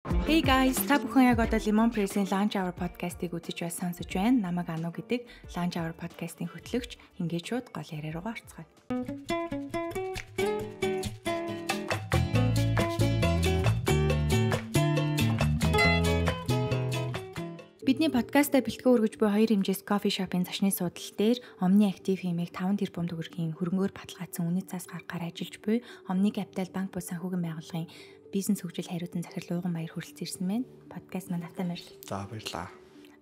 Hey guys, та бүхэн яг одоо Lemon Press-ийн Launch Hour podcast-ыг үзэж байс сонсож байна. Намайг Ану гэдэг Launch Hour podcast-ийн хөтлөгч. Ингээд шууд гол яриа руугаа орцгоё. Бидний подкастаа бэлтгэн өргөж буй хоёр хэмжээс кофе шопын зочны суудал дээр Omni Active хэмээх 5 тэрбум төгрөгийн хөрөнгөөр баталгаажсан үнэт цаас гаргахаар ажиллаж буй Omni Capital банк бус санхүүгийн байгууллагын бизнес хөгжил хариуцсан захирал Уйган Баяр хүрэлцэн ирсэн байна. Подкаст манд автаа мэрл. За баярлаа.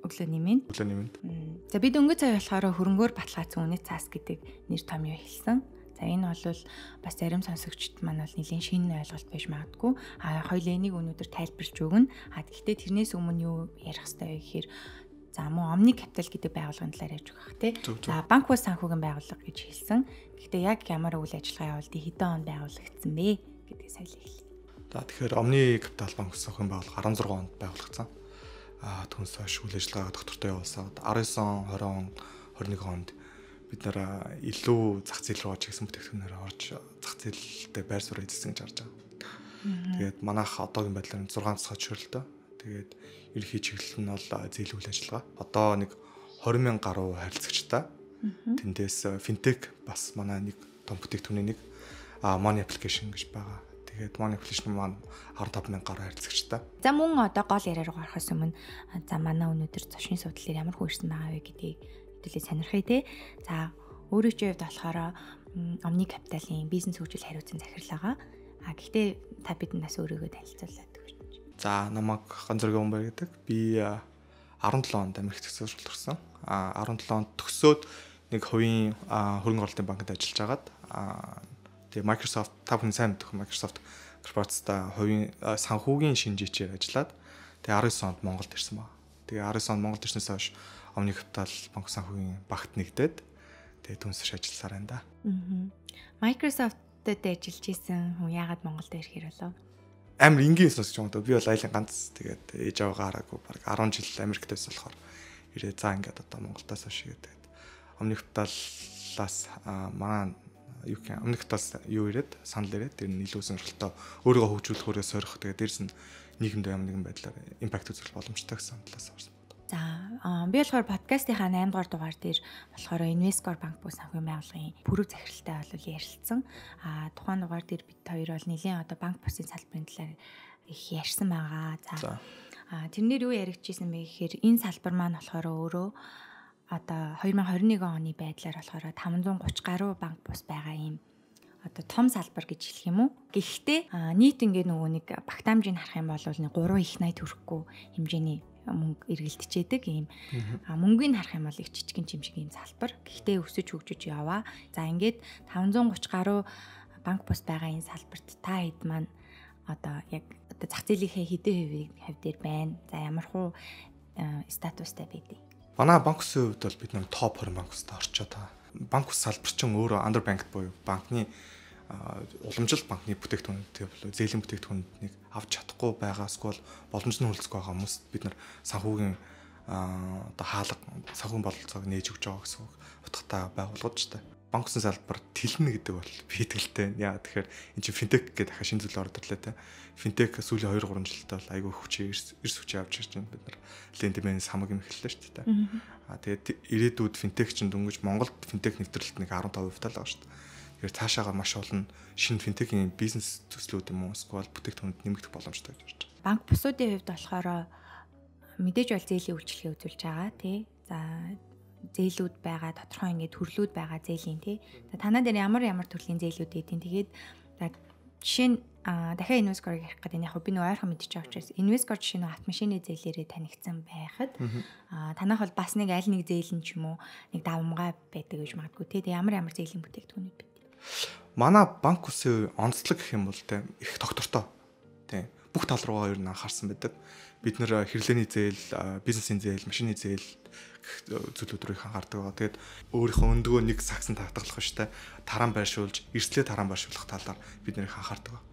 Өглөөний минь. За бид өнгө цай болохоор хөрөнгөөр баталгаажсан үнэт цаас гэдэг нэр томьёо хэлсэн. За энэ бол бас зарим сонсогчд маань бол нэлийн шинэ ойлголт байж магадгүй. Хоёул энийг өнөөдөр тайлбарлаж өгнө. Гэхдээ тэрнээс өмнө юу ярих хэрэгтэй вэ гэхээр за мөн Omni Capital гэдэг байгууллагын талаар ярьж өгөх тий. За банк бус санхүүгийн байгууллага гэж хэлсэн. Гэхдээ яг ямар үйл ажиллагаа явуулдгийг хэдэн онд байгуулагдсан бэ гэдгийг соёлыг хэлье. За тэгэхээр Omni Capital банк бус санхүүгийн байгууллага 16 онд байгуулагдсан. Түүнээс хойш үйл ажиллагаа доктортой явуулсаад 19 он, 20 он, 21 онд бид нэр илүү зах зээл рүү орж ирсэн бүтээгдэхүүнээр орж зах зээлтэй байр суурь эзэлсэн гэж харж байгаа. Тэгээд манайх одоогийн байдлаар 6 цац хөрөлтөө. Тэгээд ерөнхий чиглэл нь бол зээл үйл ажиллагаа. Одоо нэг 20,000 гаруй харилцагчтай. Тэндээс финтек бас манай нэг том бүтээгдэхүүний нэг Money application гэж байгаа. Тэгээд Money application маань 15,000 гаруй харилцагчтай. За мөн одоо гол яриа руу гарахаас өмнө за манай өнөөдөр зочны суудлын дээр ямар хүн ирсэн байгаа вэ гэдгийг хэлээ сонирхъя те. За өөрийн хувьд болохоор Omni Capital-ийн бизнес хөгжил хариуцсан захирал байгаа. Гэхдээ та биднээс өөрийгөө танилцуулаад өгч. За намайг Ганцзөргийн Баяр гэдэг. Би 17 онд Америкт төгсөөж орсон. 17 онд төгсөөд нэг хувийн хөрөнгө оруулалтын банкнд ажиллаж агаад тэгээ Microsoft та бүхэн сайн мэдэх Microsoft корпорацтай хувийн санхүүгийн шинжээчээр ажиллаад тэгээ 19 онд Монголд ирсэн байна. Тэгээ 19 онд Монголд ирснээс хойш Omni Capital банк санхүүгийн багт нэгдээд тэгээ түнсэж ажилласаар байна да. Microsoft-д ажиллаж исэн хүн яагаад Монголд ирэхээр болов? Амар энгийн сонсож байгаа юм. Би бол айлын ганц тэгээд ээж аваагаараагүй баг 10 жил Америкт байсан болохоор ирээ за ингээд одоо Монголдоос хойш тэгээд Omni Capital-аас манай Omni Capital-аас юу ирээд санал ирээд тэр нь илүү сонирхолтой өөрийгөө хөгжүүлэх өөрөөс сорих тэгээд дээрс нь нийгэмд ямар нэгэн байдлаар импакт үзүүлэх боломжтой гэсэн талаас орсон. За би болохоор подкастынхаа 8 дугаар дугаар дээр болохоор Invescore банк бус санхүүгийн байгууллагын бүрэг захиралтай бол ярилцсан. Тухайн дугаар дээр бид хоёр бол нэлийн одоо банк бусын салбарын талаар их ярьсан байгаа. За тэрнэр юу яригдчихсэн бэ гэхээр энэ салбар маань болохоор өөрөө одоо 2021 оны байдлаар болохоор 530 гаруй банк бус байгаа юм. Одоо том салбар гэж хэлэх юм уу? Гэхдээ нийт ингээд нөгөө нэг багтаамжийг харах юм бол нэг 3 их 80 төгрөхгүй хэмжээний мөнгө эргэлдчихэд ийм мөнгөний харах юм бол их жижигэн чимшиг ийм салбар. Гэхдээ өсөж хөгжиж яваа. За ингээд 530 гаруй банк бус байгаа энэ салбарт та хэд маань одоо яг одоо зах зээлийнхээ хэдэн хувь дээр байна? За ямар хуу статустай байдгийг. Манай банк усын хувьд бол бид нэг топ 20 банк устай орчоод байгаа. Банк ус салбар чинь өөрөө underbanked буюу банкны уламжлалт банкны бүтээгдэхүүнтэй болоо зээлийн бүтээгдэхүүнийг авч чадахгүй байгаас бол боломж нь хүлцэх байгаа хүмүүст бид нар санхүүгийн одоо хаалга санхүүгийн бололцоог нээж өгч байгаа гэсэн үг утгатай байгууллагууд ч та. Банк усын салбар тэлнэ гэдэг бол бийтгэлтэй. Яа тэгэхээр эн чинь финтек гэдэг дахин шинэ зүйл ороод ирлээ те. Финтек сүүлийн 2-3 жилдээ бол айгүй хүчээр эрс хүчээ авч ирж байна. Бид нар лендмэнс хамаг юм эхэллээ шүү дээ. Тэгээд ирээдүйд финтек чинь дөнгөж Монголд финтек нэвтрэлт нэг 15% тал байгаа шүү дээ. Тэгэхээр цаашаага маш олон шинэ финтекийн бизнес төслүүд юм уу эсвэл бүтээгдэхүүнд нэмэгдэх боломжтой гэж харж байна. Банк бусуудын хувьд болохоор мэдээж бол зээлийн үйлчлэгээ үзүүлж байгаа тий. За зээлүүд байгаа, тодорхой ингээд төрлүүд байгаа зээлийн тий. Танаа дээр ямар төрлийн зээлүүд эдийн тэгээд жишээ нь дахиад Invescore-ыг ярих гэдэг нь яг би нөгөө ойрхон мэдчихэж байгаа учраас Invescore жишээ нь автомашины зээлээрээ танигдсан байхад танах бол бас нэг аль нэг зээл нь ч юм уу нэг давмгай байдаг гэж магадгүй тий. Ямар зээлийн бүтээгдэхүүнүүд бэ? Манай банк усын онцлог гэх юм бол те их доктортой. Тэ бүх тал руугаа ер нь анхаарсан байдаг. Бид нэр хэрэглээний зээл, бизнесийн зээл, машины зээл зүйлүүд рүү их анхаардаг байгаа. Тэгээд өөрийнхөө өндгөө нэг сагсан татгалах штэ таран байршуулж, эрсдлээ таран байршуулах талаар бид нэр их анхаардаг байгаа.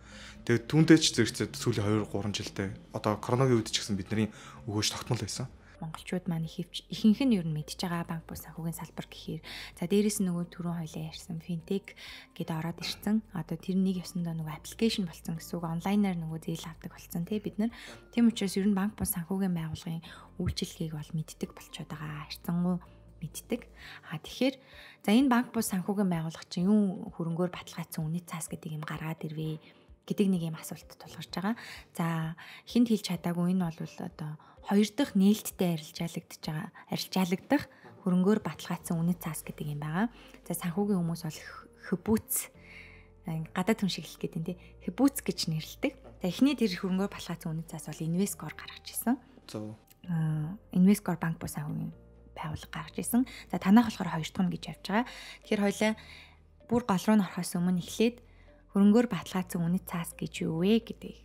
Тэгээд түүндээ ч зэрэгцээ сүүлийн 2-3 жилдээ одоо коронавигийн үед ч гэсэн бидний өгөөж тогтмол байсан. монголчууд маань ихэнх нь ер нь мэдж байгаа банк бус санхүүгийн салбар гэхээр за дээрэс нь нөгөө түрүүн хоёлаа ярьсан финтек гэдээ ороод ирсэн. Одоо тэр нэг ёсондоо нөгөө аппликейшн болсон гэсэн үг, онлайнаар нөгөө зээл авдаг болсон тий бид нар. Тийм учраас ер нь банк бус санхүүгийн байгууллагын үйлчилгээг бол мэддэг болчиход байгаа. Харьцангуй мэддэг. Тэгэхээр за энэ банк бус санхүүгийн байгууллага чинь юу хөрөнгөөр баталгаажсан үнэт цаас гэдэг юм гаргаад ирвэ гэдэг нэг юм асуултад тулгарч байгаа. За хинт хэлж чадаагүй энэ бол одоо хоёр дахь нээлттэй арилжаалагдах хөрөнгөөр баталгаажсан үнэт цаас гэдэг юм байгаа. За санхүүгийн хүмүүс бол хбүүц гадаад хүн шиг хэлэх гэдэг нь тий хбүүц гэж нэрлэдэг. За эхний тэр хөрөнгөөр баталгаажсан үнэт цаас бол Инвескор гаргаж ирсэн. Зөв. Инвескор банк бус санхүүгийн байгууллага гаргаж ирсэн. За танах болохоор хоёр дахь нь гэж явж байгаа. Тэгэхээр хоёлаа бүр гол руу орохоос өмнө эхлээд хөрөнгөөр баталгаажсан үнэт цаас гэж юу вэ гэдгийг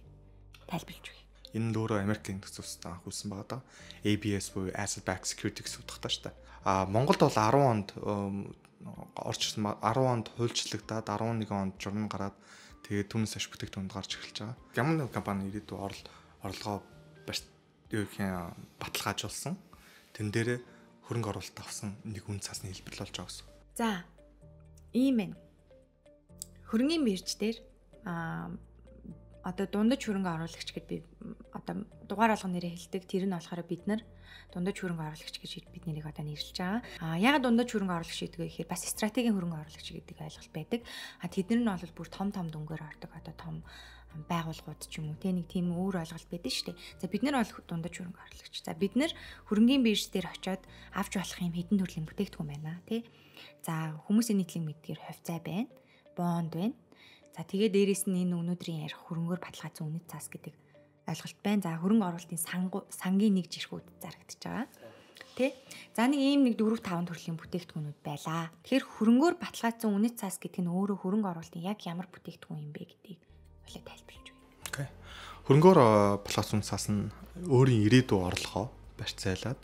тайлбарлаж өгье. Энэ л өөрөө Америкийн төсөвсөд анхуулсан байгаа даа. ABS буюу Asset Backed Security гэсэн утгатай шүү дээ. Монголд бол 10 онд орж ирсэн 10 онд хуульчлагдаад 11 онд журам гараад тэгээд түүнээс хойш бүтээгдэхүүнд гарч эхэлж байгаа. Ямар нэг компани ирээдүйн орлогоо баталгаажуулсан. Тэн дээрээ хөрөнгө оруулалт авсан нэг үн цасны хэлбэр болж байгаа гэсэн. За ийм байна. Хөрөнгөний бирж дээр одоо дундаж хөрөнгө оруулагч гэд би одоо дугаар болгон нэрээ хэлдэг. Тэр нь болохоор бид нар дундаж хөрөнгө оруулагч гэж бид нэрийг одоо нэрлэж байгаа. Ягаад дундаж хөрөнгө оруулагч гэдэг вэ гэхээр бас стратегийн хөрөнгө оруулагч гэдэг ойлголт байдаг. Тэднэр нь бол бүр том дүнгээр ордог одоо том байгууллагууд ч юм уу те нэг тийм өөр ойлголт байдаг шүү дээ. За бид нар бол дундаж хөрөнгө оруулагч. За бид нар хөрөнгөний бирж дээр очиод авч болох юм хэдэн төрлийн бүтээгдэхүүн байна те. За хүмүүсийн нийтлэг мэдгээр хувьцаа байна. Бонд байна. За тэгээ дээрэс нь энэ өнөөдрийн ярих хөрөнгөөр баталгаажсан үнэт цаас гэдэг ойлголт байна. За хөрөнгө оруулалтын сангийн нэг жиргүүд зарагдчихж байгаа. Тэ? За нэг ийм нэг 4-5 төрлийн бүтээгдэхүүнүүд байлаа. Тэгэхээр хөрөнгөөр баталгаажсан үнэт цаас гэдэг нь өөрөө хөрөнгө оруулалтын яг ямар бүтээгдэхүүн юм бэ гэдгийг хоёлаа тайлбарлаж өгье. Окей. Хөрөнгөөр баталгаажсан цаас нь өөрийн ирээдүйн орлогоо барьцаалаад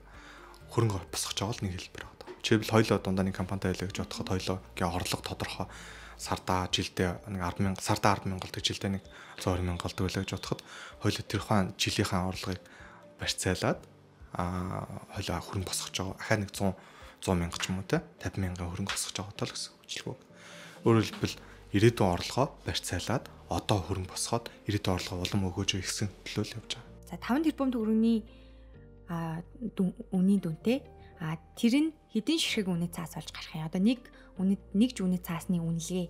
хөрөнгө босгож байгаа л нэг хэлбэр байна. Жишээлбэл хоёлоо дундаа нэг компанитай байлаа гэж бодоход хоёлоогийн орлого тодорхой сардаа жилдээ нэг 10,000 сардаа 10,000 голдог жилдээ нэг 120,000 голдог байлаа гэж бодоход хоёул тэр хаан жилийнхаа орлогыг барьцаалаад хоёул хөрөнгө босгож байгаа. Ахаа нэг 100,000 ч юм уу те 50,000 хөрөнгө босгож байгаа тал гэсэн үгчлэг. Өөрөөр хэлбэл ирээдүйн орлогоо барьцаалаад одоо хөрөнгө босгоод ирээдүйн орлогоо улам өгөөж ихсэн төлөөл явж байгаа. За 5 тэрбум төгрөгийн үнийн дүнтэй тэр нь хэдийн ширхэг үнэт цаас болж гарах юм. Одоо нэг ж үнэт цаасны үнэлгээ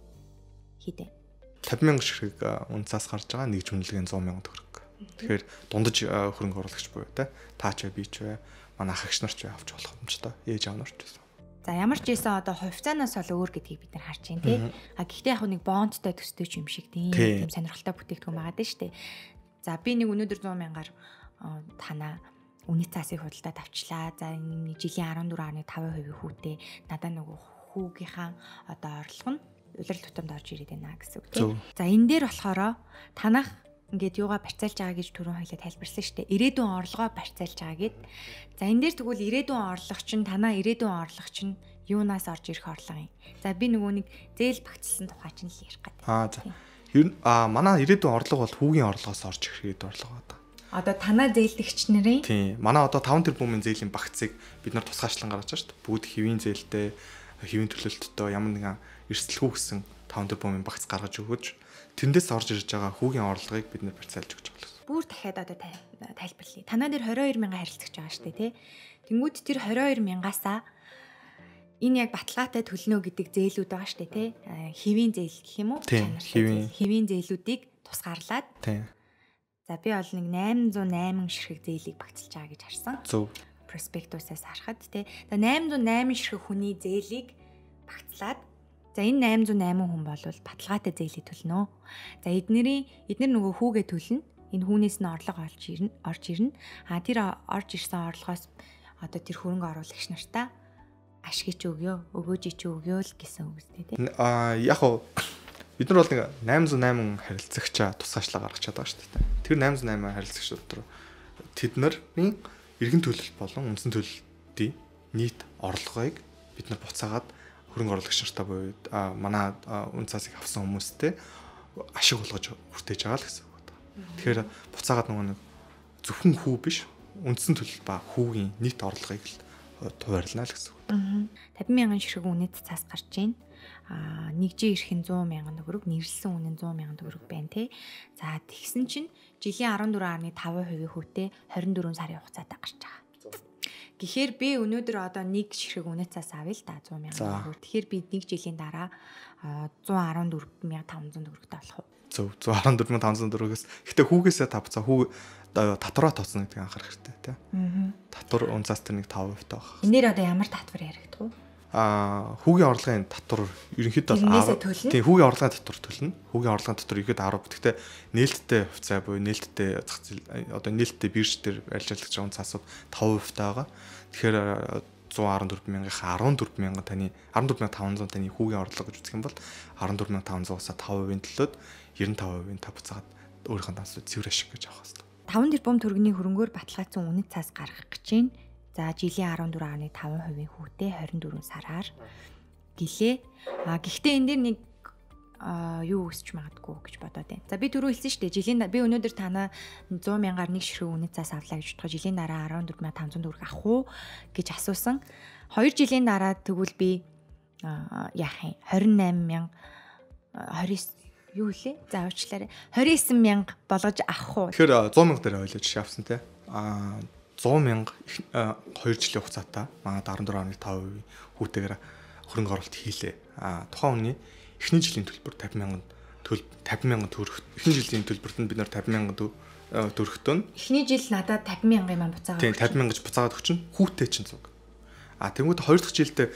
хийдэ. 50,000 ширхэг үнэт цаас гарч байгаа, нэг ж үнэлгээ 100,000 төгрөг. Тэгэхээр дундаж хөрөнгө оруулагч буюу те таа ч би ч бай, манай ах эгч нар ч авч болох юм ч та. Ээж аав нар ч гэсэн. За ямар ч байсан одоо хувьцаанаас бол өөр гэдгийг бид нар харж байна тий. Гэхдээ яг нэг бондтой төстэй ч юм шиг тийм сонирхолтой бүтээгдэхүүн байгаа дээ шүү дээ. За би нэг өнөөдөр 100,000-аар танаа үнэт цаасыг худалдаад авчлаа. За энэ жилийн 14.5% хүүтэй надад нөгөө хүүгийнхаа одоо орлого нь улирал тутамд орж ирээд байна гэсэн үг тийм. За энэ дээр болохоор танах ингээд юугаа барьцаалж байгаа гэж түрүүн хоёлаа тайлбарсан шүү дээ. Ирээдүйн орлогоо барьцаалж байгаа гэд. За энэ дээр тэгвэл ирээдүйн орлого чинь танаа ирээдүйн орлого чинь юунаас орж ирэх орлого юм. За би нөгөө нэг зээл багцлсан тухай чинь л ярих гэдэг. За. Ер нь манай ирээдүйн орлого бол хүүгийн орлогоос орж ирэх ирээдүйн орлого байна. Одоо танаа зээлдэгч нарын тийм. Манай одоо 5 тэрбумын зээлийн багцыг бид нар тусгаачлан гаргаж байгаа шүү дээ. Бүгд хэвийн зээлтэй, хэвийн төлөлтөд ямар нэгэн эрсдэлгүй гэсэн 5 тэрбумын багц гаргаж өгөөж тэндээс орж ирж байгаа хүүгийн орлогыг бид нар барьцаалж өгч байгаа юм. Бүр дахиад одоо тайлбарлая. Танаа дээр 22,000 харилцагч байгаа шүү дээ, тий. Тэнгүүд тэр 22,000-аасаа энэ яг баталгаатай төлнө гэдэг зээлүүд байгаа шүү дээ, тий. Хэвийн зээл гэх юм уу? Хэвийн зээлүүдийг тусгаарлаад. Тий. За би бол нэг 808 ширхэг зээлийг багцлж байгаа гэж харсан. Зөв. Проспектусаас харахад тий. За 808 ширхэг хүний зээлийг багцлаад за энэ 808 хүн бол баталгаатай зээлийг төлнө. За эднэр нөгөө хүүгээ төлнө. Энэ хүнээс нь орлого орж ирнэ. Тэр орж ирсэн орлогоос одоо тэр хөрөнгө оруулагч нартаа ашигч өгөөж өгөө л гэсэн үг үстэй тий. Яг уу бид нар бол нэг 808 харилцагчаа тусгаачлаа гаргаж чадбайгаа шүү дээ. Тэр 808 харилцагч дотор тэднэрийн эргэн төлөлт болон үндсэн төлөлтийн нийт орлогыг бид нар буцаагаад хөрөнгө оруулагч нартаа буюу манай үн цаасыг авсан хүмүүстэй ашиг болгож хүртээж байгаа л гэсэн үг байна. Тэгэхээр буцаагаад нөгөө нэг зөвхөн хүү биш үндсэн төлөл ба хүүгийн нийт орлогыг л хуваарлана л гэсэн үг. 50,000 ширхэг үнэт цаас гарч байна. Нэгжийн эрх нь 100,000 төгрөг, нэрлсэн үнэ нь 100,000 төгрөг байна тий. За тэгсэн чинь жилийн 14.5% хүүтэй 24 сарын хугацаатай гарч байгаа. Гэхдээ би өнөөдөр одоо нэг ширхэг үнэт цаас авъя л да 100,000 төгрөг. Тэгэхээр би нэг жилийн дараа 114,500 төгрөгтэй болох уу? Зөв 114,500 төгрөгөөс. Гэтэ хүүгээсээ тавцаа хүү татвараа тооцно гэдгийг анхаарах хэрэгтэй тий. Татвар унцаас тэр нэг 5% таа баг. Энээр одоо ямар татвар яригдах вэ? Хүүгийн орлогын татвар ерөнхийдөө 10. Тийм хүүгийн орлогын татвар төлнө. Хүүгийн орлогын татвар ихэд 10. Гэхдээ нээлттэй хувьцаа буюу нээлттэй зах зээл одоо нээлттэй бирж дээр ажиллаж байгаа цаасууд 5% байгаа. Тэгэхээр 114,000-ийнхаа 14,000 таны 14,500 таны хүүгийн орлого гэж үзэх юм бол 14,500-аас 5%-ийн төлөөд 95%-ийн тав буцаагаад өөрийнхөө дансууд цэвэр ашиг гэж авах хэрэгтэй. 5 тэрбум төгрөгийн хөрөнгөөр баталгаажсан үнэт цаас гаргах гэж байна. За жилийн 14.5% хүүтэй 24 сараар гэлээ. Гэхдээ энэ дээр нэг юу өсч магадгүй гэж бодоод байна. За би түрүү хэлсэн шүү дээ. Жилийн би өнөөдөр танаа 100,000-аар нэг ширхэг үнэт цаас авлаа гэж бодоход жилийн дараа 14,500 төгрөг авах уу гэж асуусан. 2 жилийн дараа тэгвэл би яах юм? 28,000 29 юу лээ? За уучлаарай. 29,000 болгож авах уу? Тэгэхээр 100,000 дээр ойлоо жишээ авсан те. 100,000 2 жилийн хугацаатай манад 14.5% хүүтэйгээр хөрөнгө оруулалт хийлээ. Тухайн хүний эхний жилийн төлбөр 50,000 төгрөг. Эхний жилийн төлбөрт нь бид нар 50,000 төгрөгтөө эхний жил надад 50,000 юм буцаагаад. Тийм 50,000 гэж буцаагаад өгчин хүүтэй чинь зүг. Тэгмүүд хоёр дахь жилдээ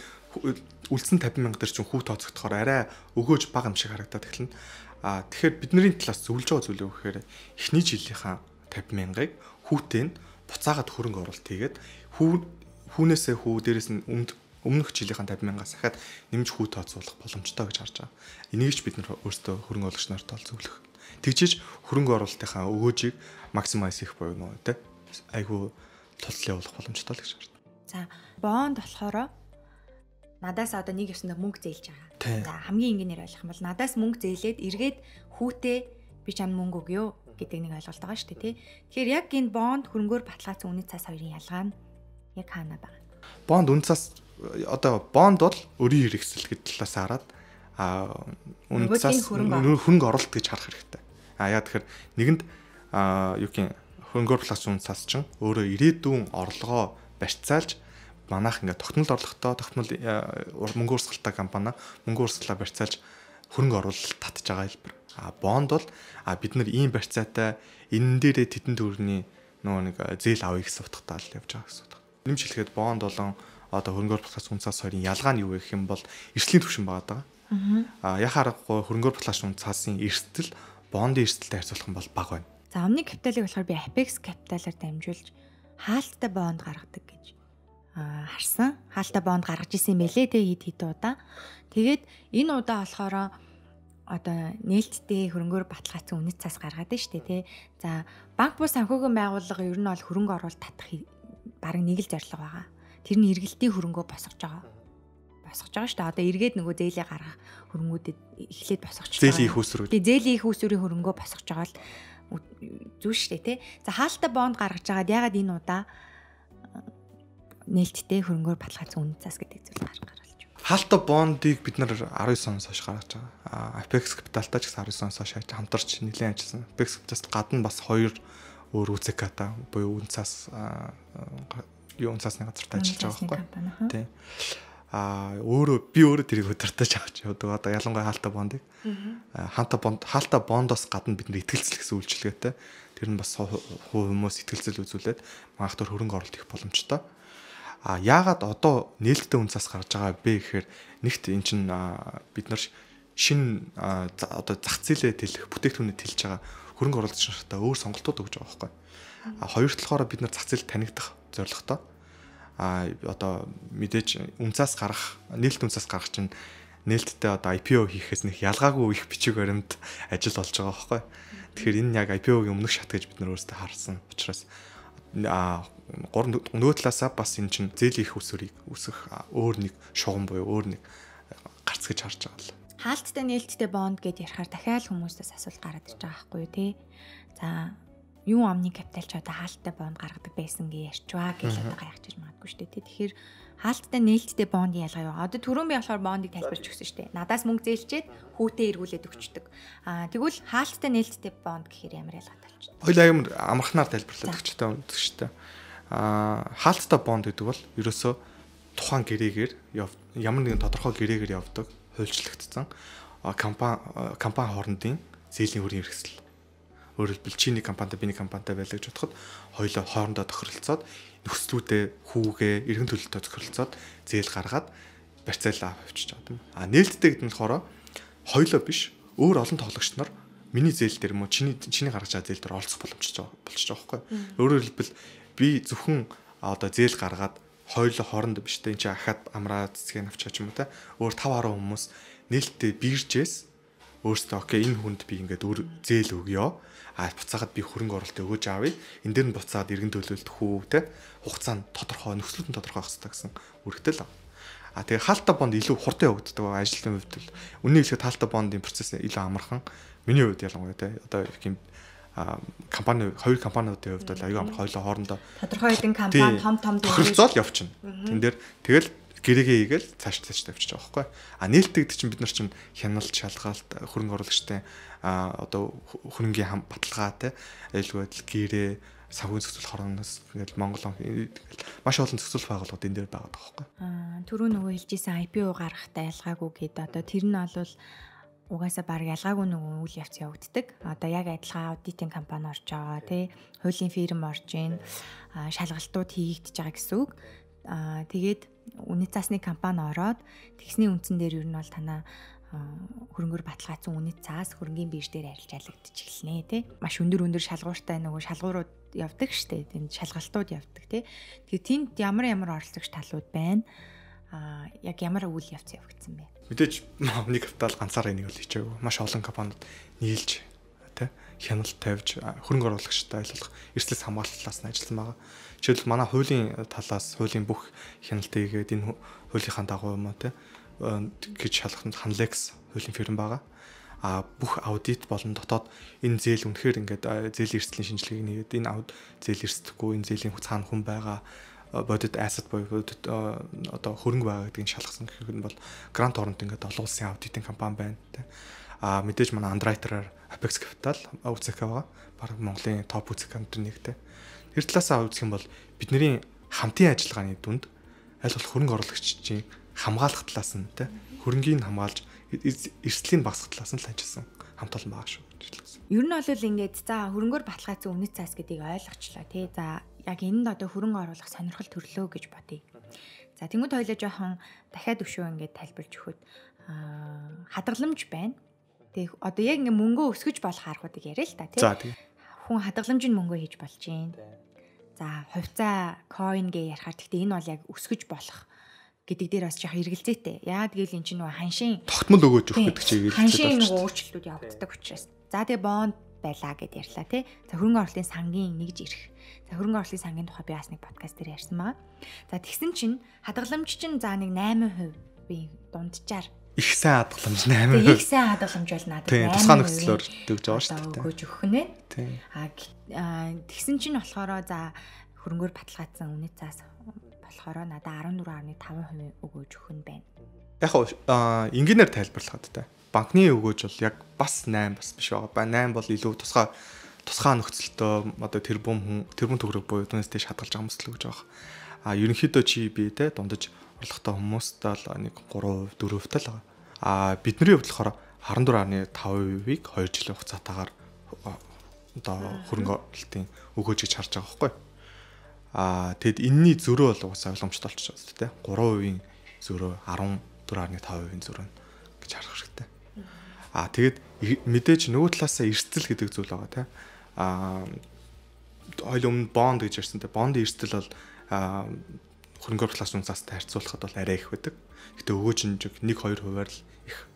үлдсэн 50,000 дээр чинь хүү тооцогдохоор арай өгөөж бага юм шиг харагдаад эхэлнэ. Тэгэхээр бидний талаас зөвлөж байгаа зүйл юу гэхээр эхний жилийнхаа 50,000-ыг хүүтэй нь буцаагаад хөрөнгө оруулалт хийгээд хүүнээсээ хүү дээрээс нь өмнөх жилийнхэн 50,000-аас ахаад нэмж хүү тооцоолох боломжтой гэж харж байгаа. Энийг ч бид нар өөрсдөө хөрөнгө оруулагч нарт зөвлөх. Тэгжиж хөрөнгө оруулалтынхаа өгөөжийг максимайз хийх буюу нөө тэ айгүй туслан явуулах боломжтой л гэж харж байна. За бонд болохоор надаас одоо нэг ёсонд мөнгө зээлж байгаа. За хамгийн энгийнээр ойлгох юм бол надаас мөнгө зээлээд эргээд хүүтэй би чам мөнгө өгөө гэдэг нэг ойлголт байгаа шүү дээ тий. Тэгэхээр яг энэ бонд хөрөнгөөр баталгаажсан үнэт цаас хоёрын ялгаа нь яг хаана байгаа? Бонд үнэт цаас одоо бонд бол өрийн хэрэгсэл гэдэг талаас хараад үнэт цаас хөрөнгө оруулалт гэж харах хэрэгтэй. Яг тэгэхээр нэгэнд юу гэх хөрөнгөөр баталгаажсан үнэт цаас чинь өөрөө ирээдүйн орлогоо барьцаалж манайх ингээд тогтмол орлоготой мөнгө урсгалтай компани мөнгө урсгалаа барьцаалж хөрөнгө оруулалт татж байгаа хэлбэр. Бонд бол бид нар ийм барьцаатай энэ дээрээ тэдэн төгрөгийн нөгөө нэг зээл авъя гэсэн утгатай л явж байгаа гэсэн үг. Нэмж хэлэхэд бонд болон одоо хөрөнгөөр баталгаажсан үнэт цаас хоёрын ялгаа нь юу вэ гэх юм бол эрсдлийн түвшин байгаа. Яхаа аргагүй хөрөнгөөр баталгаажсан үнэт цаасын эрсдэл бондын эрсдэлтэй харьцуулах юм бол бага байна. За өмнөний капиталыг болохоор би Apex капиталаар дамжуулж хаалттай бонд гаргадаг гэж харсан. Хаалттай бонд гаргаж исэн мэлээ те хэд удаа. Тэгээд энэ удаа болохоор одоо нээлттэй хөрөнгөөр баталгаажсан үнэт цаас гаргаад байна шүү дээ тий. За банк бус санхүүгийн байгууллага ер нь бол хөрөнгө оруулалт татах бараг нэг л зорилго байгаа. Тэр нь эргэлтийн хөрөнгөө босгож байгаа. Босгож байгаа шүү дээ. Одоо эргээд нөгөө зээлээ гаргах хөрөнгүүдэд эхлээд босгож байгаа. Зээлийн их үүсвэр. Тий зээлийн их үүсвэрийн хөрөнгөө босгож байгаа л зүг шүү дээ тий. За хаалттай бонд гаргаж байгаад ягаад энэ удаа нээлттэй хөрөнгөөр баталгаажсан үнэт цаас гэдэг зүйл гаргаж байна. Хаалттай бондыг бид нар 19 оноос хойш гаргаж байгаа. Apex Capital-тай ч гэсэн 19 оноос хойш хамтарч нэлээд ажилласан. Apex Capital-аас гадна бас 2 өөр УЗК-та буюу үнэт цаас үнэт цаасны газартай ажиллаж байгаа байхгүй. Тий. Би өөрөө тэрийг удирдах авч явдаг. Одоо ялангуяа хаалттай бондыг. Хаалттай бондоос гадна бид нар итгэлцэл гэсэн үйлчилгээтэй. Тэр нь бас хүмүүс итгэлцэл үзүүлээд манайх төр хөрөнгө оруулалт хийх боломжтой. Яагаад одоо нээлттэй үнцаас гарч байгаа бэ гэхээр нэгт эн чинь бид нар шинэ одоо зах зээлээ тэлэх бүтээгдэхүүнээ тэлж байгаа хөрөнгө оруулагч нартаа өөр сонголтууд өгж байгаа байхгүй. Хоёр талаараа бид нар зах зээл танигдах зорилготой. Одоо мэдээж үнцаас гарах нээлт үнцаас гарах чинь нээлттэй одоо IPO хийхээс нэг ялгаагүй их бичиг баримт ажил болж байгаа байхгүй. Тэгэхээр энэ яг IPO-гийн өмнөх шат гэж бид нар өөрсдөө харсан учраас нөгөө талаасаа бас энэ чинь зээлийн их усврыг үүсгэх өөр нэг шугам буюу өөр нэг гарц гэж харж байгаа л. Хаалттай нээлттэй бонд гэдээ ярихаар дахиад хүмүүсээс асуулт гараад ирж байгаа байхгүй юу те. За юу амны капитал ч одоо хаалттай бонд гаргадаг байсан гэж ярьчваа гэж одоо гайхаж магадгүй шүү дээ. Тэгэхээр хаалттай нээлттэй бондын ялгаа юу? Одоо түрүүн би болохоор бондыг тайлбарч өгсөн шүү дээ. Надаас мөнгө зээлчээд хүүтээ эргүүлээд өгчдөг. Тэгвэл хаалттай нээлттэй бонд гэхээр ямар ялгаатай болчих вэ? Хоёул амар амархнаар тайлбарлаад өгчтэй үнэхээр. Хаалттай бонд гэдэг бол ерөөсөө тухайн гэрээгээр ямар нэгэн тодорхой гэрээгээр явдаг хуульчлагдсан компани хоорондын зээлийн хөрийн хэрэгсэл. Өөрөөр хэлбэл чиний компанитай биний компанитай байлаа гэж бодоход хоёулаа хоорондоо тохиролцоод нөхцлүүдээ хүүгээ эргэн төлөлтөд тохиролцоод зээл гаргаад барьцаалаа авчиж байгаа юм. Нээлттэй гэдэг нь болохоор хоёулаа биш өөр олон тоглогч нар миний зээл дээр мөн чиний гаргаж байгаа зээл дээр оролцох боломжтой болчих жоохоо байхгүй. Өөрөөр хэлбэл би зөвхөн одоо зээл гаргаад хоёулаа хоорондоо биш тэ энэ чинь ахаад амраа цэцгийг авчаач юм уу те өөр 5-10 хүмүүс нээлттэй бииржээс өөртөө окей энэ хүнд би ингээд өөр зээл өгье. Буцаагаад би хөрөнгө оруулалт өгөөж аавь. Энд дээр нь буцаад эргэн төлөлт хүү те хугацаанд тодорхой нөхцөлд нь тодорхой байх хэрэгтэй гэсэн үргэлжлэл. Тэгээ хаалттай бонд илүү хурдан явагддаг ажлын хувьд л үнэн хэлэхэд хаалттай бондын процесс илүү амархан. Миний хувьд ялангуяа те одоо их юм хоёр компаниудын хувьд бол аюу амар хоёулаа хоорондоо тодорхой хэдэн компани том тохиролцоод явчихна. Тэн дээр тэгэл гэрээгээ хийгээл цааш тавьчих байгаа байхгүй. Нээлттэй гэдэг чинь бид нар чинь хяналт шалгаалт хөрөнгө оруулагчтай одоо хөрөнгийн баталгаа те аюулгүй байдал гэрээ санхүүгийн зохицуулах хорооноос ингээл Монгол маш олон зохицуулах байгууллагууд энэ дээр байгаа байхгүй. Түрүү нөгөө хэлжсэн IPO гаргахтаа ялгаагүй гээд одоо тэр нь бол угаасаа баг ялгаагүй нөгөө үйл явц явагддаг. Одоо яг адилхан аудитын компани орж байгаа тий хуулийн фирм орж ийн шалгалтууд хийгдэж байгаа гэсэн үг. Тэгээд үнэт цаасны компани ороод тэгсний үндсэн дээр ер нь бол танаа хөрөнгөөр баталгаажсан үнэт цаас хөрөнгөний бирж дээр арилжаалагдчих эхэлнэ тий. Маш өндөр шалгууртай нөгөө шалгуурууд явдаг штэ. Тэнд шалгалтууд явдаг тий. Тэгээд тэнд ямар оролцогч талууд байна. Яг ямар үйл явц явагдсан бэ? Мэдээж нэг капитал ганцаараа энийг л хийчихэв. Маш олон компаниуд нийлж тий хяналт тавьж хөрөнгө оруулагчтай айлуулах эрсдлээс хамгаалалтаас нь ажилласан байгаа. Жишээлбэл манай хуулийн талаас хуулийн бүх хяналтыг хийгээд энэ хуулийнхаа дагуу юм тий гэж шалгахад Hanlex хуулийн фирм байгаа. Бүх аудит болон дотоод энэ зээл үнэхээр ингээд зээлийн эрсдлийн шинжилгээг нэгээд энэ зээл эрсдэхгүй энэ зээлийн цаана хүн байгаа бодит asset буюу бодит одоо хөрөнгө байгаа гэдгийг шалгасан гэх юм бол Grant Thornton ингээд олон улсын аудитын компани байна тий. Мэдээж манай Underwriter-аар Apex Capital УЦК байгаа. Бараг Монголын топ УЦК-д нэгтэй. Тэр талаасаа үзэх юм бол бидний хамтын ажиллагааны дүнд аль болох хөрөнгө оруулагчдын хамгаалах талаас нь тий хөрөнгийг хамгаалж эрсдлийн багасгах талаас нь л ажилласан хамт олон байгаа шүү гэж хэлсэн. Ер нь бол ингээд за хөрөнгөөр баталгаажсан үнэт цаас гэдгийг ойлгочлаа тий. За яг энд одоо хөрөнгө оруулах сонирхол төрлөө гэж бодъё. За тэнгуү тойлоо жоохон дахиад өшөө ингээд тайлбарж өгөхөд хадгаламж байна. Тэг одоо яг ингээд мөнгөө өсгөж болох аргуудыг яриа л та тий. За тий. Хүн хадгаламжинд мөнгөө хийж болж гин. За хувьцаа coin гээ ярихаар гэхдээ энэ бол яг өсгөж болох гэдэг дээр бас жоох эргэлзээтэй. Яагаад гэвэл эн чинь нөгөө ханшийн тогтмол өгөөж өгөх гэдэг чигээр хэлээд ханшийн нөгөө өөрчлөлтүүд явагддаг учраас. За тэгээ бонд байлаа гэд ярьлаа тий. За хөрөнгө оруулалтын сангийн нэгж ирэх. За хөрөнгө оруулалтын сангийн тухай би бас нэг подкаст дээр ярьсан байгаа. За тэгсэн чинь хадгаламж чинь за нэг 8% би дунджаар их сайн хадгаламж 8%. Тэгээ их сайн хадгаламж бол надад 8%. Тусгай нөхцлөөр өгж байгаа шүү дээ. Өгөөж өгөх нь. Тэгсэн чинь болохоор за хөрөнгөөр баталгаажсан үнэт цаас болохоор надад 14.5% өгөөж өгөх нь байна. Яг энгийнээр тайлбарлахад та банкны өгөөж бол яг бас 8 бас биш байгаа. 8 бол илүү тусгай нөхцөлтөө одоо тэрбум төгрөг буюу түүнээс дэш хадгалж байгаа хүмүүс л өгж байгаа. Ерөнхийдөө чи би те дундаж орлоготой хүмүүстэй л нэг 3%, 4% тал байгаа. Бидний хувьд болохоор 14.5%-ийг 2 жилийн хугацаатаагаар одоо хөрөнгө оруулалтын өгөөж гэж харж байгаа байхгүй. Тэгэд энэний зөрөө бол угаасаа ойлгомжтой болчихсон шүү дээ. 3%-ийн зөрөө 14.5%-ийн зөрөө гэж харах хэрэгтэй. Тэгээд мэдээж нөгөө талаасаа эрсдэл гэдэг зүйл байгаа тийм. Хоёул өмнө бонд гэж ярьсан тийм. Бондын эрсдэл бол хөрөнгө оруулалт үнцастай харьцуулахад бол арай их байдаг. Гэтэ өгөөж нь 1-2%-аар л их.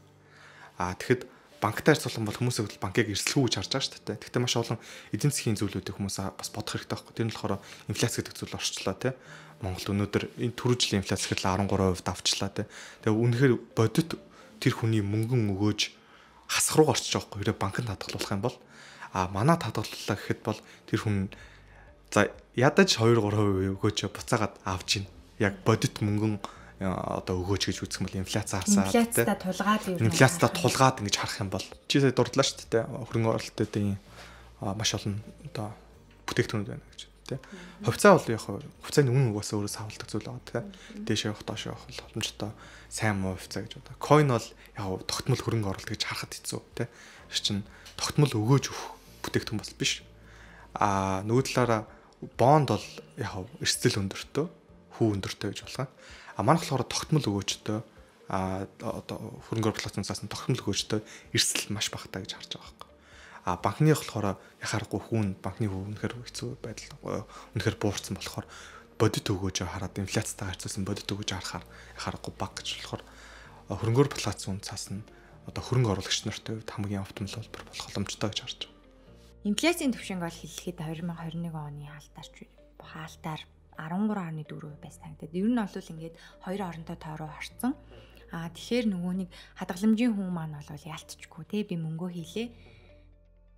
Тэгэхэд банктай харьцуулах бол хүмүүсийг бол банкыг эрсдэлгүй гэж харж байгаа шүү дээ. Гэхдээ маш олон эдийн засгийн зүйлүүдийг хүмүүс бас бодох хэрэгтэй байхгүй. Тэр нь болохоор инфляц гэдэг зүйл орчлоо тийм. Монгол өнөөдөр энэ түрүү жилийн инфляц гэхэл 13% давчлаа тийм. Тэгээ үнэхээр бодит тэр хүний мөнгөн өгөөж хасах руу орчих жоохгүй. Хэрэв банкнд хадгалуулах юм бол Манай татгаллаа гэхэд бол тэр хүн за ядаж 2-3% өгөөч буцаагаад авч ийн. Яг бодит мөнгөн одоо өгөөч гэж үзэх юм бол инфляци харсаад инфляцтай тулгаад юу инфляцтай тулгаад ингэж харах юм бол чи сая дурдлаа шүү дээ хөрөнгө оруулалтын маш олон одоо бүтээгдэхүүнүүд байна гэж тий. Хувьцаа бол яг хувьцааны үнэ угаасаа өөрөө савлдаг зүйл байгаа тий. Дээш явах доош явах бол боломжтой сайн муу хувьцаа гэж одоо. Coin бол яг тогтмол хөрөнгө оруулалт гэж харахад хэцүү тий. Тэр чинь тогтмол өгөөж өгөх бүтээгдэхүүн бас биш. Нөгөө талаараа бонд бол яг эрсдэл өндөртөө, хүү өндөртөө гэж болгоо. Манайх болохоор тогтмол өгөөжтэй одоо хөрөнгө оруулалтын цаас нь тогтмол өгөөжтэй эрсдэл маш багтаа гэж харж байгаа байхгүй. Банкны болохоор яхаарахгүй хүүн банкны хүү үнэхээр хэцүү байдал үнэхээр буурсан болохоор бодит өгөөжөө хараад инфляцтайгаар харьцуулсан бодит өгөөж харахаар яхаарахгүй баг гэж болохоор хөрөнгө оруулалтын цаас нь одоо хөрөнгө оруулагч нартай хувьд хамгийн оптимал холбор болох боломжтой гэж харж байгаа. Инфляцийн түвшинг бол хэлэхэд 2021 оны хаалтаар 13.4% байсан гэдэг. Ер нь бол ингээд хоёр хоронтой тойроо харцсан. Тэгэхээр нөгөө нэг хадгаламжийн хүн маань бол ялтчихгүй те би мөнгөө хийлээ.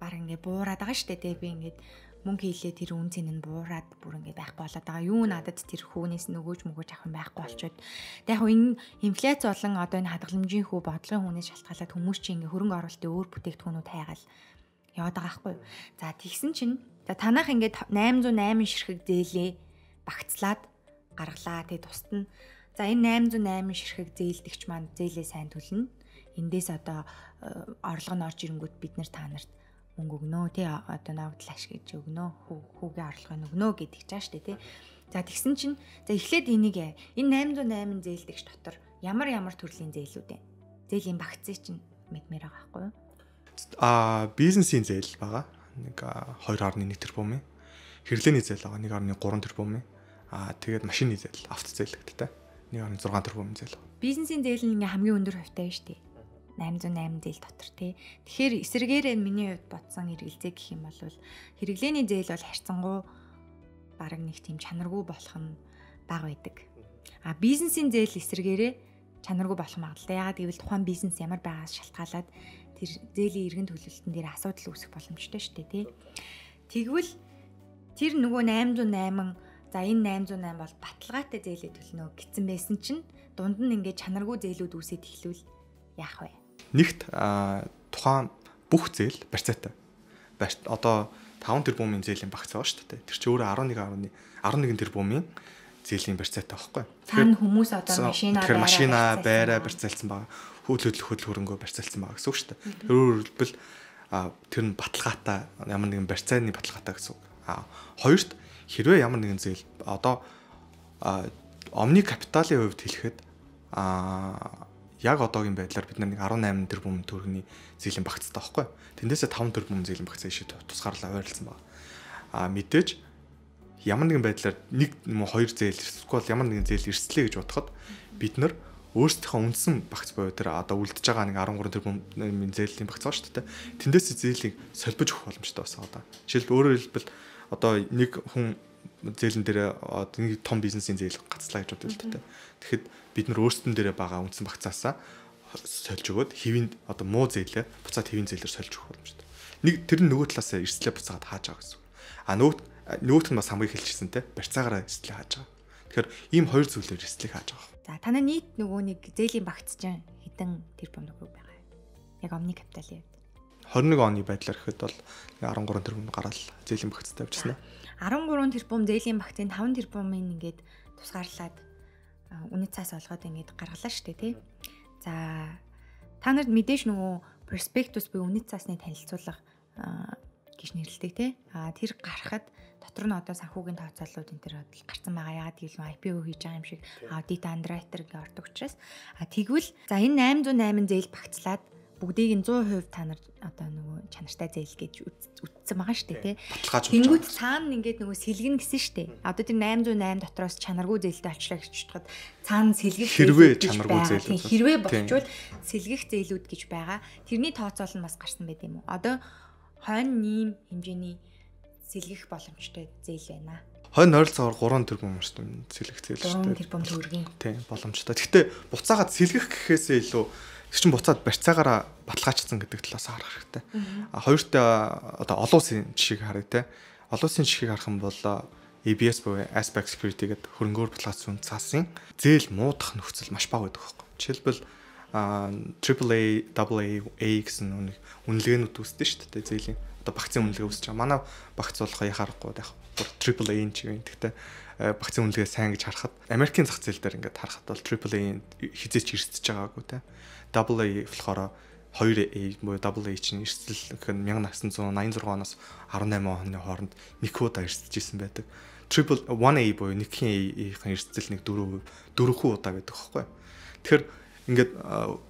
Баг ингээд буураад байгаа штэ те би ингээд мөнгө хийлээ тэр үн цэн нь буураад бүр ингээд байхгүй болоод байгаа. Юу надад тэр хүүнээс нөгөөж авах юм байхгүй болчоод. Тэг яг энэ инфляц болон одоо энэ хадгаламжийн хүү бодлогын хүнээс шалтгаалаад хүмүүс чинь ингээд хөрөнгө оруулалтын өөр бүтээгдэхүүнүүд хайгаал яваад байгаа байхгүй юу. За тэгсэн чинь танах ингээд 808 ширхэг зээлээ багцлаад гаргалаа тэг тусад нь за энэ 808 ширхэг зээлдэгч маань зээлээ сайн төлнө. Эндээс одоо орлого нь орж ирэнгүүт бид нэр та нарт мөнгө өгнө тий одоо ногдол ашиглаж өгнө хүүгийн орлогыг өгнө гэдэг чаа штэ тий. За тэгсэн чинь за эхлээд энийг энэ 808 зээлдэгч дотор ямар төрлийн зээлүүд вэ? Зээлийн багцыг чинь мэдмээр байгаа байхгүй юу? Бизнесийн зээл байгаа. Нэг 2.1 тэрбум. Хэрэглээний зээл байгаа 1.3 тэрбум. Тэгээд машины зээл, авто зээл гэдэгтэй 1.6 тэрбум зээл. Бизнесийн зээл нь ингээ хамгийн өндөр хувьтай шүү дээ. 808 зээл дотор тий. Тэгэхээр эсэргээрээ миний хувьд бодсон хэрэгэлзээ гэх юм бол хэрэглээний зээл бол харьцангуй бараг нэг тийм чанаргүй болох нь бага байдаг. Бизнесийн зээл эсэргээрээ чанаргүй болох магадлалтай. Ягаад гэвэл тухайн бизнес ямар байгаас шалтгаалаад тэр зээлийн эргэн төлөлтөн дээр асуудал үүсэх боломжтой шүү дээ тий. Тэгвэл тэр нөгөө 808 за энэ 808 бол баталгаатай зээлээ төлнө гэсэн байсан чинь дунд нь ингээд чанаргүй зээлүүд үүсээд эхлүүл яах вэ? Нэгт тухайн бүх зээл барьцаатай. Одоо 5 тэрбумын зээлийн багц байгаа шүү дээ. Тэр чинь өөрөө 11 тэрбумын зээлийн барьцаатай байхгүй. Тэгэхээр хүмүүс одоо машина байраа барьцаалсан байгаа. Хөдөл хөрөнгөө барьцаалсан байгаа гэсэн үг шүү дээ. Өөрөөр хэлбэл тэр нь баталгаатай ямар нэгэн барьцааны баталгаатай гэсэн үг. Хоёрт хэрвээ ямар нэгэн зээл одоо омни капиталын хувьд хэлэхэд яг одоогийн байдлаар бид нэг 18 тэрбум төгрөгийн зээлийн багцтай байхгүй. Тэндээсээ 5 тэрбум зээлийн багцаа ишээ тусгаарлаа ойрлцсан байна. Мэдээж ямар нэгэн байдлаар нэг юм уу хоёр зээл эсвэл ямар нэгэн зээл эрсдлээ гэж бодоход бид нар өөрсдийнхөө үндсэн багц буюу тэр одоо үлдэж байгаа нэг 13 тэрбумын зээлийн багц байгаа шүү дээ. Тэндээс зээлийг солбож өгөх боломжтой байсан одоо. Жишээлбэл өөрөөр хэлбэл одоо нэг хүн зээлэн дээр нэг том бизнесийн зээл гацлаа гэж бодъё л дээ. Тэгэхэд бид нар өөрсдөн дээрээ байгаа үндсэн багцаасаа сольж өгөөд хэвийн одоо муу зээлээ буцаад хэвийн зээлээр сольж өгөх боломжтой. Нэг тэр нөгөө талаас эрсдлээ буцаад хааж байгаа гэсэн. Нөгөөх нь бас хамгийн хэлчихсэн те барьцаагаараа эрсдлээ хааж байгаа. Тэгэхээр ийм хоёр зүйлээр эрсдлийг хааж байгаа. За танай нийт нөгөө нэг зээлийн багц чинь хэдэн тэрбум төгрөг байгаа юм? Яг омны капиталын хувьд. 21 оны байдлаар гэхэд бол 13 тэрбум гараад зээлийн багцтай авчихсан. 13 тэрбум зээлийн багцын 5 тэрбумын ингээд тусгаарлаад үнэт цаас олгоод ингээд гаргалаа штэ тий. За та нарт мэдээж нөгөө перспектус буюу үнэт цаасны танилцуулга гэж нэрлэдэг тий. Тэр гарахад дотор нь одоо санхүүгийн тооцооллууд энэ төр гарсан байгаа. Яагаад гэвэл IPO хийж байгаа юм шиг аудит андеррайтер гэж ордог учраас тэгвэл за энэ 808 зээл багцлаад бүгдийг нь 100% та нар одоо нөгөө чанартай зээл гэж үтсэн байгаа шүү дээ тий. Тэнгүүд цаана ингээд нөгөө сэлгэн гэсэн шүү дээ. Одоо тэр 808 дотроос чанаргүй зээлтэй олчлаа гэж бодоход цаана сэлгэх хэрвээ чанаргүй зээлүүд хэрвээ болчвол сэлгэх зээлүүд гэж байгаа. Тэрний тооцоол нь бас гарсан байт юм уу? Одоо хойно нийм хэмжээний сэлгэх боломжтой зээл байна. Хойно ойролцоогоор 3 тэрбум шүү дээ сэлгэх зээл шүү дээ. 3 тэрбум төгрөгийн. Тийм боломжтой. Гэхдээ буцаагаад сэлгэх гэхээсээ илүү Тэр чинь буцаад барьцаагаараа баталгаажсан гэдэг талаас харах хэрэгтэй. Хоёрт одоо олон улсын жишээг харъя те. Олон улсын жишээг харах юм бол ABS буюу Aspect Security гэдэг хөрөнгөөр баталгаажсан цаасын зээл муудах нөхцөл маш бага байдаг байхгүй. Жишээлбэл AAA, AA гэсэн үнэлгээнүүд үүсдэг шүү дээ зээлийн. Одоо багцын үнэлгээ үүсэж байгаа. Манай багц болох яхаарахгүй яг AAA ч юм. Гэхдээ багцын үнэлгээ сайн гэж харахад Америкийн зах зээл дээр ингээд харахад бол AAA хизээч эрсдэж байгаагүй те. AA болохоор 2A буюу AA чинь эрсдэл гэх нь 1986 оноос 18 оны хооронд нэг удаа эрсдэж исэн байдаг. 1A буюу нэгхийн A-ийн эрсдэл нэг 4% удаа байдаг байхгүй. Тэгэхээр ингээд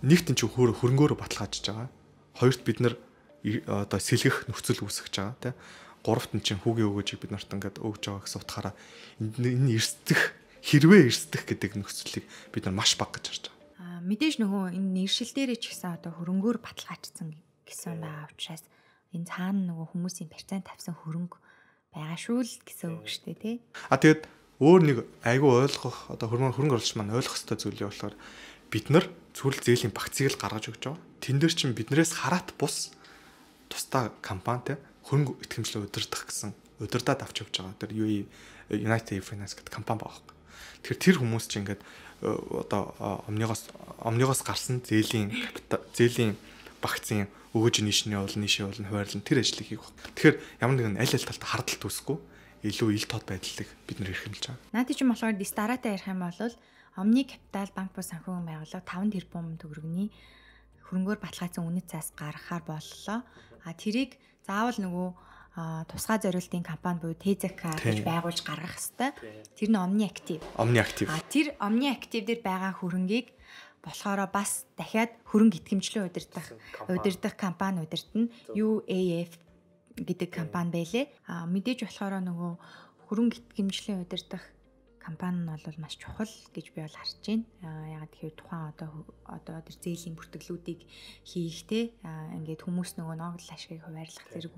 нэгт нь ч хөрөнгөөр баталгаажж байгаа. Хоёрт бид нар одоо сэлгэх нөхцөл үүсгэж байгаа тийм. Гуравт нь чинь хүүгийн өгөөжийг бид нарт ингээд өгж байгаа гэсэн утгаараа энэ эрсдэх хэрвээ эрсдэх гэдэг нөхцөлийг бид нар маш бага гэж харж байгаа. Мэдээж нөгөө энэ нэршил дээрээ ч гэсэн одоо хөрөнгөөр баталгаажсан гэсэн байгаа учраас энэ цаана нөгөө хүмүүсийн процент тавьсан хөрөнгө байгаа шүү л гэсэн үг шүү дээ тий. Тэгээд өөр нэг айгүй ойлгох одоо хөрөнгө оруулагч маань ойлгох ёстой зүйл юу болохоор бид нар зөвхөн зээлийн багцыг л гаргаж өгч байгаа. Тэн дээр чинь биднээс хараат бус тусдаа компани те хөрөнгө итгэмжлээ удирдах авч явж байгаа. Тэр United Finance гэдэг компани байгаа. Тэгэхээр тэр хүмүүс чинь ингээд одоо omnigos гарсан зээлийн багцын өгөөж нийшний нийшээ болно хуваарлан тэр ажлыг хийх баг. Тэгэхээр ямар нэгэн аль талд хардалт үүсэхгүй илүү ил тод байдлыг бид нэр эрхэмлэж байгаа. Наад чинь болохоор дараатай ярих юм бол Omni Capital банк бус санхүүгийн байгууллага 5 тэрбум төгрөгийн хөрөнгөөр баталгаажсан үнэт цаас гаргахаар боллоо. Тэрийг заавал нөгөө тусгай зориултын компани буюу TZK гэж байгуулж гаргах хэвээр. Тэр нь Omni Active. Тэр Omni Active дээр байгаа хөрөнгийг болохоор бас дахиад хөрөнгө итгэмжлэн удирдах компани удирдна. UAF гэдэг компани байлээ. Мэдээж болохоор нөгөө хөрөнгө итгэмжлэн удирдах компани нь бол маш чухал гэж би бол харж байна. Ягаад гэхээр тухайн одоо тэр зээлийн бүртгэлүүдийг хийхтэй ингээд хүмүүс нөгөө ногдол ашгийг хуваарлах зэрэг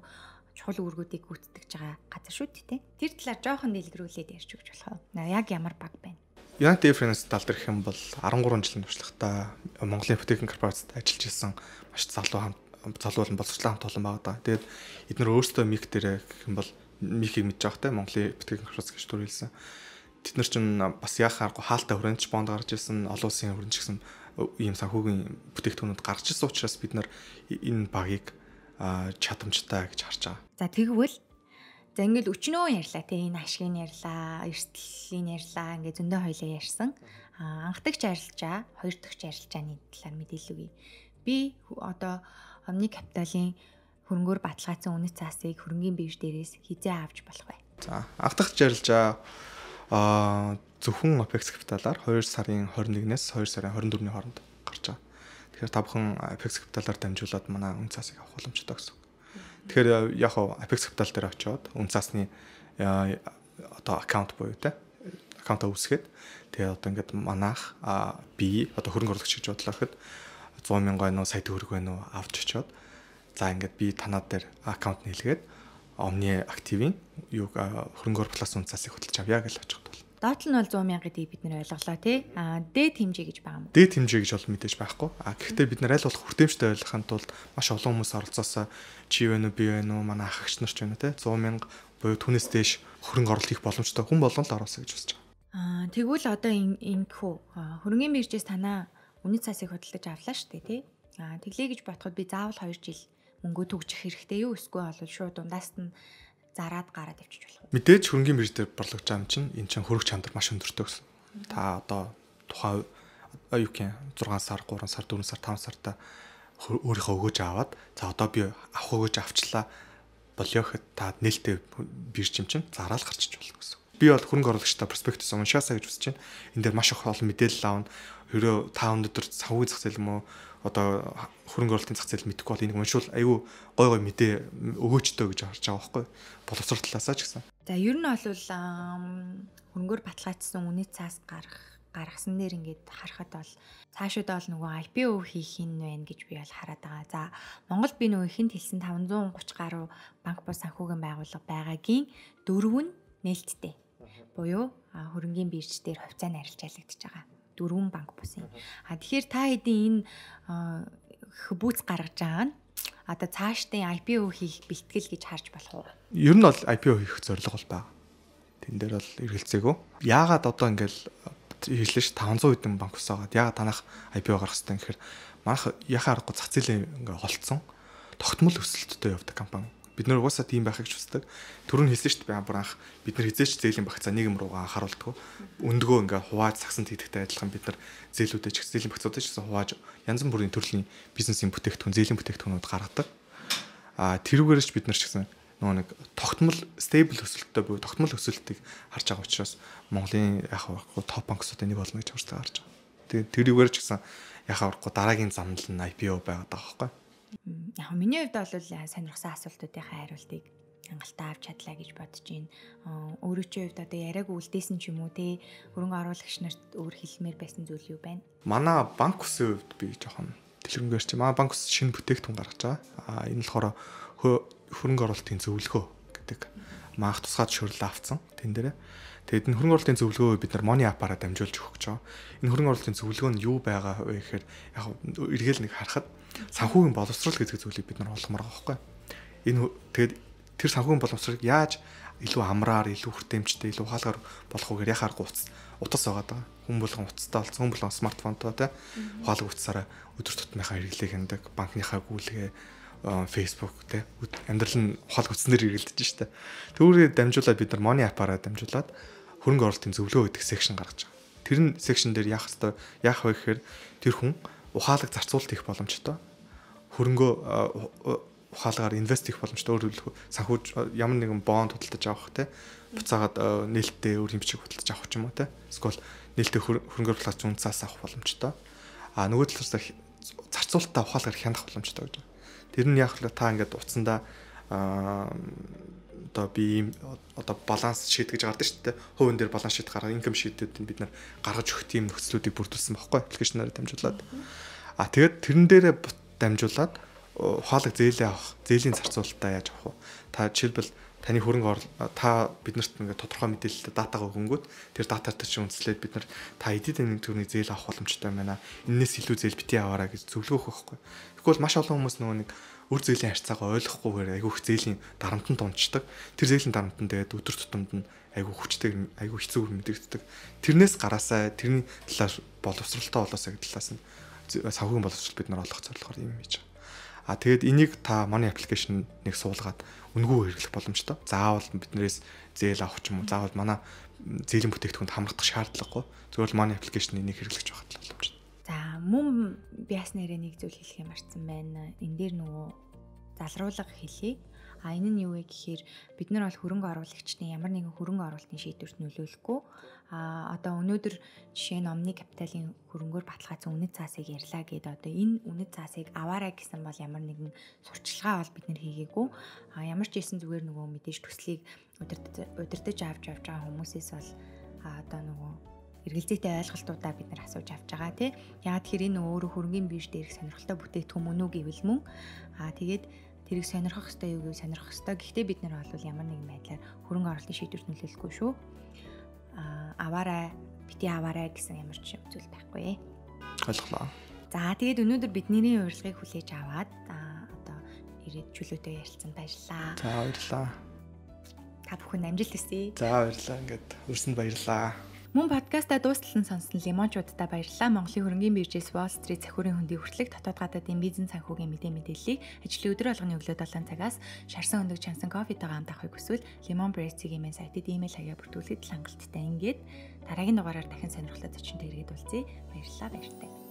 чухал үүргүүдийг гүйцэтгэж байгаа газар шүү дээ. Тэр талаар жоохон дэлгэрүүлээд ярьж өгч болох уу? Яг ямар баг байна? United Finance тал дээр хэм бол 13 жилийн туршлагатай Монголын ипотекийн корпорацид ажиллаж исэн маш залуу боловсролын хамт олон байгаа даа. Тэгээд эдгээр өөрсдөө миг дээр гэх юм бол мигийг мэдж байгаа те Монголын ипотекийн корпорац гэж төрүүлсэн. Тэд нар чинь бас яхааргүй хаалттай хүрээнд бонд гарч ирсэн, олон улсын хүрээнд ч гэсэн ийм санхүүгийн бүтээгдэхүүнүүд гарч ирсэн учраас бид нар энэ багийг чадамжтай гэж харж байгаа. За тэгвэл ингээд өчнөө ярьлаа тий энэ ашгийг ярьлаа, эрсдлийн ярьлаа, ингээд зөндөө хоёлаа ярьсан. Анх дагч арилжаа, хоёр дахь арилжааны талаар мэдээлэл өгье. Би одоо Omni Capital-ийн хөрөнгөөр баталгаажсан үнэт цаасыг хөрөнгөний бирж дээрээс хизээ авч болох вэ? За анх дагч арилжаа зөвхөн Apex Capital-аар 2 сарын 21-ээс 2 сарын 24-ний хооронд гарч байгаа. Тэгэхээр та бүхэн Apex Capital-аар дамжуулаад манай үн цаасыг авах боломжтой гэсэн. Тэгэхээр яг Apex Capital дээр очиод үн цаасны одоо аккаунт буюу те аккаунтаа үүсгээд тэгээ одоо ингээд манайх би одоо хөрөнгө оруулагч гэж бодлоо гэхэд 100 мянган байна уу сая төгрөг байна уу авч очиод за ингээд би танаа дээр аккаунт нийлгээд Omni Active-ийн хөрөнгөөр плюс үн цаасыг хөтлөж авъя гэж очиход бол. Доод нь бол 100 мянга гэдгийг бид нэр ойлголоо тий. Дээд хэмжээ гэж байгаа юм. Дээд хэмжээ гэж бол мэдээж байхгүй. Гэхдээ бид нар аль болох хүртээмжтэй ойлгохын тулд маш олон хүмүүс оролцоосоо чи вэ нү би вэ нү манай ах эгч нар ч байна тий. 100 мянга буюу түүнээс дээш хөрөнгө оруулалт хийх боломжтой хүн болгон л оруулах гэж үзэж байгаа. Тэгвэл одоо ингэхүү хөрөнгөний биржээс танаа үнэт цаасыг хөдөлж авлаа шүү дээ тий. Тэглээ гэж бодоход би заавал 2 жил мөнгө төгжих хэрэгтэй юу эсвэл бол шууд дундаас нь зараад гараад авчиж болох уу? Мэдээж хөрөнгөний бирж дээр борлогож байгаа юм чинь эн чинь хөрөг чанар маш өндөртэй гэсэн. Та одоо тухайн 6 сар, 3 сар, 4 сар, 5 сартаа өөрийнхөө өгөөж аваад за одоо би авах өгөөж авчлаа болёо гэхэд та нээлттэй бирж юм чинь зараал гарчиж болно гэсэн. Би бол хөрөнгө оруулагчтай перспектив уншаасаа гэж үзэж байна. Энд дээр маш их олон мэдээлэл аавна. Ерөө та өнөөдөр санхүүгийн зах зээл юм уу одоо хөрөнгө оруулалтын зах зээл мэдэхгүй бол энийг уншвал айгүй гой гой мэдээ өгөөчтэй гэж харж байгаа байхгүй боловсрол талаасаа ч гэсэн. За ер нь бол хөрөнгөөр баталгаажсан үнэт цаас гаргасан дээр ингээд харахад бол цаашаа бол нөгөө IPO хийх юм байна гэж би бол хараад байгаа. За Монголд би нөгөө ихэнд хэлсэн 530 гаруй банк бус санхүүгийн байгууллага байгаагийн 4 нь нээлттэй. Буюу хөрөнгөний бирж дээр хувьцаа нарилж ялагдчихж байгаа. 4 банк бус юм. Тэгэхээр та хэдийн энэ хбүүц гаргаж байгаа нь одоо цаашдын IPO хийх бэлтгэл гэж харж болох уу? Ер нь бол IPO хийх зорилго бол байгаа. Тэн дээр бол эргэлзээгүй. Яагаад одоо ингээл хэлсэн ш 500 хэдэн банк ус байгаа. Яагаад танах IPO гаргах хэрэгтэй гэхээр манайх яхаа аргагүй зах зээлийн ингээ холцсон тогтмол өсөлттэй явдаг компани. Бид нэр угаасаа тийм байхыг ч хүсдэг. Түрүүн хэлсэн шүү дээ бүр анх бид нар хизээч зээлийн багцаа нийгэм руугаа анхааруулдаг. Өндгөө ингээ хувааж сагсанд хийдэгтэй адилхан бид нар зээлүүдээ ч зээлийн багцуудаа ч гэсэн хувааж янз бүрийн төрлийн бизнесийн бүтээгдэхүүн, зээлийн бүтээгдэхүүнүүд гаргадаг. Тэрүүгээрч бид нар ч гэсэн нөгөө нэг тогтмол стейбл өсөлттэй буюу тогтмол өсөлтийг харж байгаа учраас Монголын яхаа топ банксуудын нэг болно гэж харж байгаа. Тэгээд тэрүүгээр ч гэсэн яхаа дараагийн замнал нь IPO байгаад байгаа байхгүй. Яг миний хувьд бол сонирхсан асуултуудын хариултыг хангалттай авч чадлаа гэж бодож байна. Өөрөө чи хувьд одоо яриаг үлдээсэн ч юм уу те хөрөнгө оруулагч нарт өөр хэлмээр байсан зүйл юу байна? Манай банк үсийн хувьд би жоохон дэлгэрэнгээр чи манай банк ус шинэ бүтээгдэхүүн гаргаж байгаа. Энэ болохоор хөрөнгө оруулалтын зөвлөгөө гэдэг маах тусгай зөвшөөрөл авцсан тэн дээр. Тэгээд энэ хөрөнгө оруулалтын зөвлөгөө бид нар Money App-аараа дамжуулж өгөх гэж байгаа. Энэ хөрөнгө оруулалтын зөвлөгөө нь юу байгаа вэ гэхээр яг эргээл нэг харахад санхүүгийн боловсрол гэдэг зүйлийг бид нар олгомоор байгаа байхгүй. Энэ тэгээд тэр санхүүгийн боловсролыг яаж илүү амраар, илүү хүртээмжтэй, илүү ухаалгаар болох вэ гэхээр яхаар утас байгаа даа. Хүн болгон утастай болсон, хүн болгон смартфонтой те ухаалаг утасаараа өдөр тутмынхаа хэрэглээг хяндаг, банкныхаа гүйлгээ Facebook те амьдрал нь ухаалаг утаснаар хэрэглэдэж штэ. Түүрээ дамжуулаад бид нар Money App-аараа дамжуулаад хөрөнгө оруулалтын зөвлөгөө гэдэг секшн гаргаж байгаа. Тэр нь секшн дээр яах вэ гэхээр тэр хүн ухаалаг зарцуулалт хийх боломжтой. Хөрөнгөө ухаалагаар инвест хийх боломжтой. Өөрөөр хэлбэл санхүү ямар нэгэн бонд худалдаж авах те буцаагаад нээлттэй өөр юм бичиг худалдаж авах ч юм уу те. Эсвэл нээлттэй хөрөнгө оруулалт үнцээс авах боломжтой. Нөгөө талаас зарцуулалтаа ухаалагаар хянах боломжтой гэж. Тэр нь яг л та ингээд утсандаа одоо би одоо баланс шийд гэж гардаг шүү дээ. Хувийн дээр баланс шийд гаргах, инком шийдүүд бид нар гаргаж өгөх тийм нөхцлүүдийг бүрдүүлсэн байхгүй аппликейшнаар дамжуулаад. Тэгээд тэрэн дээрээ дамжуулаад ухаалаг зээлээ авах, зээлийн зарцуулалтаа яаж авах вэ? Та жишээлбэл таны хөрөнгө та биднэрт ингээд тодорхой мэдээлэлтэй датагаа өгөнгүүт тэр дататай чинь үндэслээд бид нар та эдийн засгийн төрний зээл авах боломжтой байна. Энээс илүү зээл бити аваарай гэж зөвлөгөөх байхгүй. Тэгвэл маш олон хүмүүс нөгөө нэг үр зээлийн харьцаагаа ойлгохгүйгээр айгүй их зээлийн дарамтанд унцдаг. Тэр зээлийн дарамтанд тэгээд өдөр тутамд нь айгүй хүчтэй, айгүй хэцүү мэдэгддэг. Тэрнээс гараасаа тэрний талаар боловсралтай болоосаа гэдэг талаас нь санхүүгийн боловсрол бид нар олох зорилгоор юм хийж байгаа. Тэгээд энийг та Money application-ыг суулгаад үнэгүй хэрэглэх боломжтой. Заавал биднээс зээл авах ч юм уу, заавал манай зээлийн бүтээгдэхүүнд хамрагдах шаардлагагүй. Зөвхөн Money application-ыг хэрэглэж байхад л боломжтой. За мөн биас нэрээ нэг зүйл хэлэх юм арцсан байна. Энэ дээр нөгөө залруулга хэлье. Энэ нь юу вэ гэхээр бид нар бол хөрөнгө оруулагчдын ямар нэгэн хөрөнгө оруулалтын шийдвэрт нөлөөлөхгүй. Одоо өнөөдөр жишээ нь Omni Capital-ийн хөрөнгөөр баталгаажсан үнэт цаасыг ярьлаа гэдэг. Одоо энэ үнэт цаасыг аваарай гэсэн бол ямар нэгэн сурталчилгаа бол бид нар хийгээгүй. Ямар ч хэлсэн зүгээр нөгөө мэдээж төслийг удирдах авч байгаа хүмүүсээс бол одоо нөгөө эргэлзээтэй ойлголтуудаа бид нар асууж авч байгаа тий. Яг тэгэхээр энэ өөрөө хөрөнгөний бирж дээрх сонирхолтой бүтээгдэхүүн мөн үү гэвэл мөн тэгээд тэрийг сонирхох ёстой юу гэвэл сонирхох ёстой. Гэхдээ бид нар бол ямар нэгэн байдлаар хөрөнгө оруулалтын шийдвэрт нөлөөлөхгүй шүү. Аваарай, бити аваарай гэсэн ямар ч зүйл байхгүй. Ойлголоо. За тэгээд өнөөдөр бидний урилгыг хүлээж аваад одоо ирээд чөлөөтэй ярилцсан баярлалаа. За баярлалаа. Та бүхэн амжилт хүсье. За баярлалаа. Ингээд хүрсэнд баярлалаа. Мөн подкастаа дуусталсан сонсон лимончуудтай баярлалаа. Монголын хөрөнгөний биржээс Wall Street цахиурын хөндий хүртэлх дотоод гадаадын бизнес санхүүгийн мэдээллийг ажлын өдөр болгоны өглөө 7 цагаас шарсан өндөг чансан кофетойгоо хамт авахыг хүсвэл Lemon Press-ийн имэйл сайтад имэйл хаягаар бүртгүүлэхэд хангалттай. Ингээд дараагийн дугаараар дахин сонирхолтой зочинтой иргэд уулзъя. Баярлалаа.